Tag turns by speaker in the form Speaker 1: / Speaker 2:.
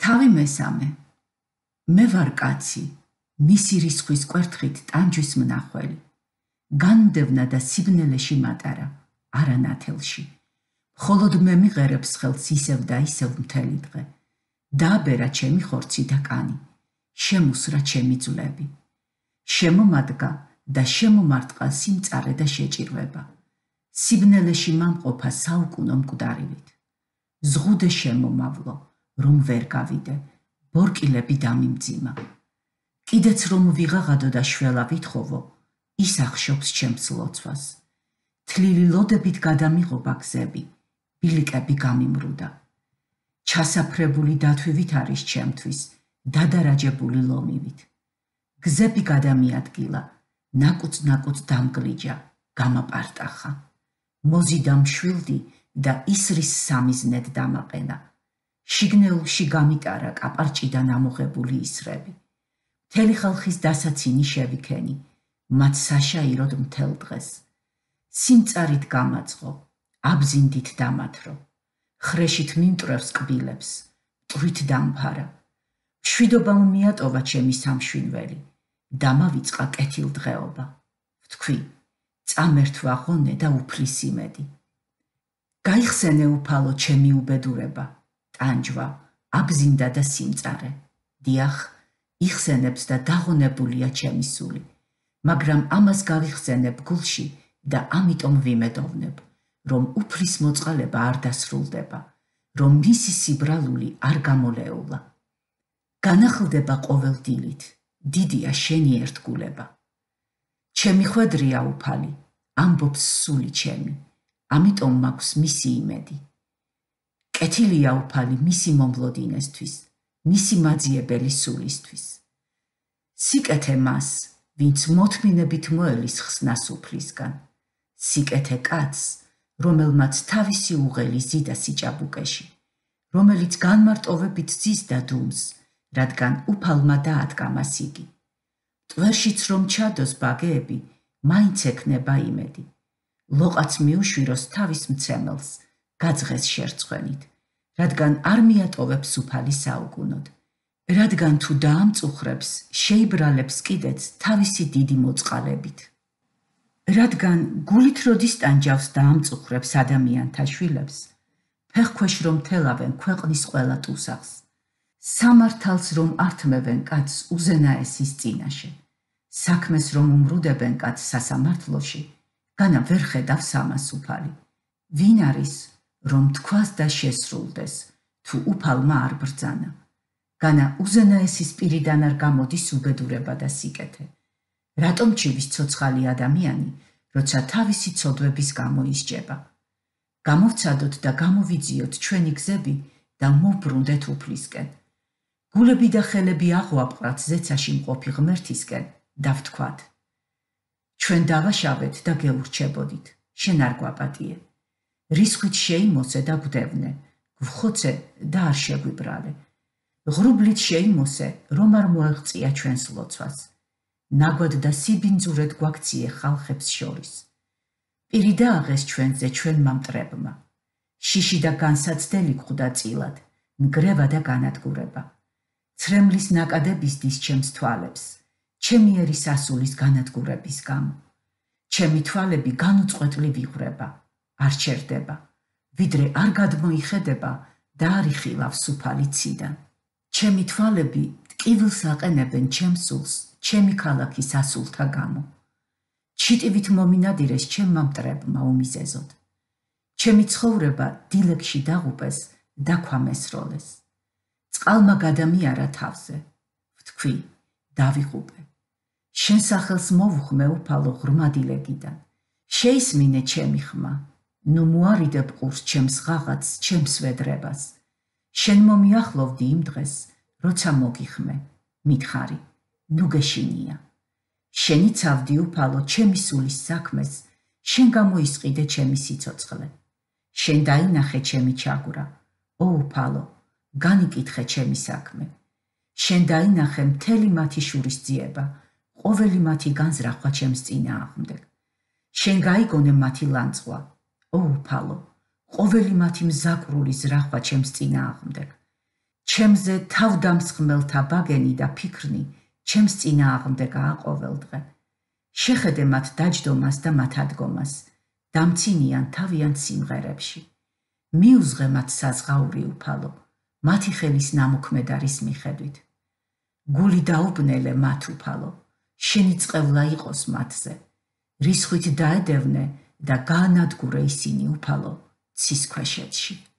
Speaker 1: თავი მესამე. მე ვარ კაცი, მისი რისხვის კვერთხით ტანჯვის მნახველი. განმდევნა და სიბნელეში მატარა, არა ნათელში. მხოლოდ მე მიღერებს ხელს ისევ და ისევ მთელი დღე. დააბერა ჩემი ხორცი და კანი, შემუსრა ჩემი ძვლები. შემომადგა და შემომარტყა სიმწარე და შეჭირვება. სიბნელეში მამყოფა საუკუნო მკვდარივით. ზღუდე შემომავლო, რომ ვერ გავიდე, ბორკილები დამიმძიმა. კიდეც რომ ვიღაღადო და შველა ვითხოვო, ის ახშობს ჩემს ლოცვას. თლილი ლოდებით გადამიღობა გზები, ბილიკები გამიმრუდა. ჩასაფრებული დათვივით არის ჩემთვის, დადარაჯებული ლომივით. გზები გადამიადგილა, ნაკუწ-ნაკუწ დამგლიჯა, გამაპარტახა. მოზიდა მშვილდი და ისრის სამიზნედ დამაყენა. შიგნეულში გამიტარა კაპარჭიდან ამოღებული ისრები. მთელი ხალხის დასაცინი შევიქენი, მათ საშაიროდ მთელ დღეს. სიმწარით გამაწყო, აბზინდით დამათრო. ხრეშით მიმტრევს კბილებს, მტვრით დამფარა. მშვიდობამ მიატოვა ჩემი სამშვინველი, დამავიწყა კეთილდღეობა. ვთქვი, წამერთვა ღონე და უფლის იმედი. გაიხსენე უფალო ჩემი უბედურება, ტანჯვა, აბზინდა და სიმწარე. დიახ, იხსენებს და დაღონებულია ჩემი სული, მაგრამ ამას გავიხსენებ გულში და ამიტომ ვიმედოვნებ, რომ უფლის მოწყალება არ დასრულდება, რომ მისი სიბრალული არ გამოლეულა. განახლდება ყოველ დილით, დიდია შენი ერთგულება. ჩემი ხვედრია უფალი, ამბობს სული ჩემი, ამიტომ მაქვს მისი იმედი. კეთილია უფალი მისი მომლოდინესთვის, მისი მაძიებელი სულისთვის. სიკეთე მას, ვინც მოთმინებით მოელის ხსნას უფლისგან. სიკეთე კაცს, რომელმაც თავისი უღელი ზიდა სიჭაბუკეში, რომელიც განმარტოვებით ზის და დუმს, რადგან უფალმა დაადგა მას იგი. ტვერშიც რომ ჩადოს ბაგეები, მაინც ექნება იმედი. ლოყაც მიუშვიროს თავის მცემელს, გაძღეს შერცხვენით, რადგან არ მიატოვებს უფალი საუკუნოდ. რადგან თუ დაამწუხრებს, შეიბრალებს კიდეც თავისი დიდი მოწყალებით. რადგან გულით როდის ტანჯავს და ამწუხრებს ადამიანთა შვილებს, ფეხქვეშ რომ თელავენ ქვეყნის ყველა ტუსახს, სამართალს რომ ართმევენ კაცს უზენაესის წინაშე, საქმეს რომ უმრუდებენ კაცს სასამართლოში, განა ვერ ხედავს ამას უფალი. ვინ არის, რომ თქვას და შესრულდეს, თუ უფალმა არ ბრძანა. განა უზენაესის პირიდან არ გამოდის უბედურება და სიკეთე. რატომ ჩივის ცოცხალი ადამიანი, როცა თავისი ცოდვების გამო ისჯება. გამოვცადოთ და გამოვიძიოთ ჩვენი გზები და მოვბრუნდეთ უფლისკენ. გულები და ხელები აღვაპყრათ ზეცაში მყოფი ღმერთისკენ და ვთქვათ. ჩვენ დავაშავეთ და გეურჩებოდით, შენ არ გვაპატიე. რისხვით შეიმოსე და გვდევნე, გვხოცე და არ შეგვიბრალე. ღრუბლით შეიმოსე, რომ არ მოეღწია ჩვენს ლოცვას. ნაგვად და სიბინძურედ გვაქციე ხალხებს შორის. პირი დააღეს ჩვენზე ჩვენმა მტრებმა. შიში და განსაცდელი გვხვდა წილად, ნგრევა და განადგურება. ცრემლის ნაკადებისდის ჩემს თვალებს, ჩემიერი სასულის განადგურების გამო. ჩემი თვალები განუწყვეტლი ვიღვრება, არ ჩერდება, ვიდრე არ გადმოიხედება და არ იხილავს უფალი ციდან. ჩემი თვალები ტკივილს აყენებენ ჩემს სულს, ჩემი ქალაქის ასულთა გამო. ჩიტივით მომინადირეს ჩემმა მტრებმა უმიზეზოდ. ჩემი ცხოვრება დილეგში დაღუპეს და ქვამესროლეს. წყალმა გადამიარა თავზე. ვთქვი, დავიღუპე. შენ სახელს მოვუხმე უფალო ღრმა დილეგიდან. შეისმინე ჩემი ხმა. ნუ მოარიდე ბყურს ჩემს ღაღაც, ჩემს ვედრებას. შენ მომიახლოვდი იმ დღეს, როცა მოგიხმე, მითხარი, ნუ გეშინია. შენი ცავდი უფალო ჩემი სულის საქმეს, შენ გამოისყიდე ჩემი სიცოცხლე. შენ დაინახე ჩემი ჩაგვრა, ო უფალო, განიკითხე ჩემი საქმე. შენ დაინახე მთელი მათი შურისძიება, ყოველი მათი განზრახვა ჩემს წინააღმდეგ. შენ გაიგონე მათი ლანძღვა, ო უფალო, ყოველი მათი მზაკრული ზრახვა ჩემს წინააღმდეგ. ჩემზე თავდამსხმელთა ბაგენი და ფიქრნი ჩემს წინააღმდეგ ააყოველდღე. შეხედე მათ დაჯდომას და მათ ადგომას, დამცინიან თავიანთ სიმღერებში. მიუძღე მათ საზღაური უფალო, მათი ხელის ნამოქმედარის მიხედვით. გული დაუბნელე მათ უფალო, შენი წყევლა იყოს მათზე, რისხვით დაედევნე და გაანადგურე ისინი უფალო ცის ქვეშეთში.